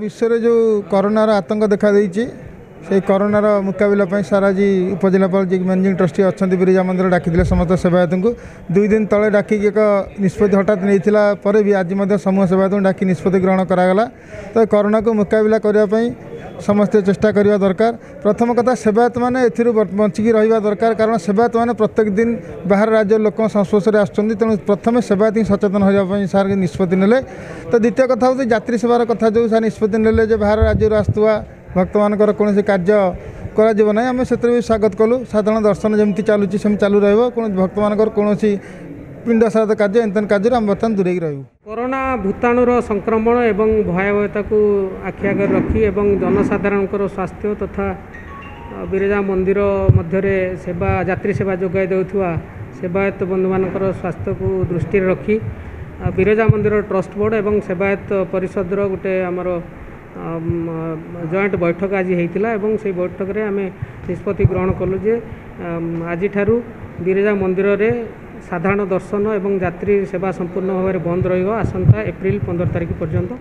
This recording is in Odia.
ବିଶ୍ୱରେ ଯେଉଁ କରୋନାର ଆତଙ୍କ ଦେଖାଦେଇଛି, ସେଇ କରୋନାର ମୁକାବିଲା ପାଇଁ ସାର୍ ଆଜି ଉପଜିଲ୍ଲାପାଳ ଯିଏକି ମ୍ୟାନେଜିଂ ଟ୍ରଷ୍ଟି ଅଛନ୍ତି ବିରଜା ମନ୍ଦିର ଡାକିଥିଲେ ସମସ୍ତ ସେବାୟତଙ୍କୁ। 2 ଦିନ ତଳେ ଡାକିକି ଏକ ନିଷ୍ପତ୍ତି ହଠାତ୍ ନେଇଥିଲା ପରେ ବି ଆଜି ମଧ୍ୟ ସମୂହ ସେବାୟତଙ୍କୁ ଡାକି ନିଷ୍ପତ୍ତି ଗ୍ରହଣ କରାଗଲା। ତ କରୋନାକୁ ମୁକାବିଲା କରିବା ପାଇଁ ସମସ୍ତେ ଚେଷ୍ଟା କରିବା ଦରକାର। ପ୍ରଥମ କଥା, ସେବାୟତମାନେ ଏଥିରୁ ବଞ୍ଚିକି ରହିବା ଦରକାର, କାରଣ ସେବାୟତମାନେ ପ୍ରତ୍ୟେକ ଦିନ ବାହାର ରାଜ୍ୟର ଲୋକଙ୍କ ସଂସ୍ପର୍ଶରେ ଆସୁଛନ୍ତି। ତେଣୁ ପ୍ରଥମେ ସେବାୟତ ହିଁ ସଚେତନ ହେବା ପାଇଁ ସାର୍ ନିଷ୍ପତ୍ତି ନେଲେ। ତ ଦ୍ୱିତୀୟ କଥା ହେଉଛି ଯାତ୍ରୀ ସେବାର କଥା, ଯେଉଁ ସାର୍ ନିଷ୍ପତ୍ତି ନେଲେ ଯେ ବାହାର ରାଜ୍ୟରୁ ଆସୁଥିବା ଭକ୍ତମାନଙ୍କର କୌଣସି କାର୍ଯ୍ୟ କରାଯିବ ନାହିଁ, ଆମେ ସେଥିରେ ବି ସ୍ୱାଗତ କଲୁ। ସାଧାରଣ ଦର୍ଶନ ଯେମିତି ଚାଲୁଛି ସେମିତି ଚାଲୁ ରହିବ। କୌଣସି ଭକ୍ତମାନଙ୍କର କୌଣସି ପିଣ୍ଡ ଶ୍ରାଦ୍ଧ କାର୍ଯ୍ୟ ଏମିତି କାର୍ଯ୍ୟରୁ ଆମେ ବର୍ତ୍ତମାନ ଦୂରେଇକି ରହିବୁ। କରୋନା ଭୂତାଣୁର ସଂକ୍ରମଣ ଏବଂ ଭୟାବହତାକୁ ଆଖି ଆଗରେ ରଖି ଏବଂ ଜନସାଧାରଣଙ୍କର ସ୍ୱାସ୍ଥ୍ୟ ତଥା ବିରଜା ମନ୍ଦିର ମଧ୍ୟରେ ସେବା ଯାତ୍ରୀ ସେବା ଯୋଗାଇ ଦେଉଥିବା ସେବାୟତ ବନ୍ଧୁମାନଙ୍କର ସ୍ୱାସ୍ଥ୍ୟକୁ ଦୃଷ୍ଟିରେ ରଖି ବିରଜା ମନ୍ଦିର ଟ୍ରଷ୍ଟ ବୋର୍ଡ଼ ଏବଂ ସେବାୟତ ପରିଷଦର ଗୋଟେ ଆମର ଜଏଣ୍ଟ ବୈଠକ ଆଜି ହେଇଥିଲା ଏବଂ ସେଇ ବୈଠକରେ ଆମେ ନିଷ୍ପତ୍ତି ଗ୍ରହଣ କଲୁ ଯେ ଆଜିଠାରୁ ବିରଜା ମନ୍ଦିରରେ ସାଧାରଣ ଦର୍ଶନ ଏବଂ ଯାତ୍ରୀ ସେବା ସମ୍ପୂର୍ଣ୍ଣ ଭାବରେ ବନ୍ଦ ରହିବ ଆସନ୍ତା ଏପ୍ରିଲ 15 ତାରିଖ ପର୍ଯ୍ୟନ୍ତ।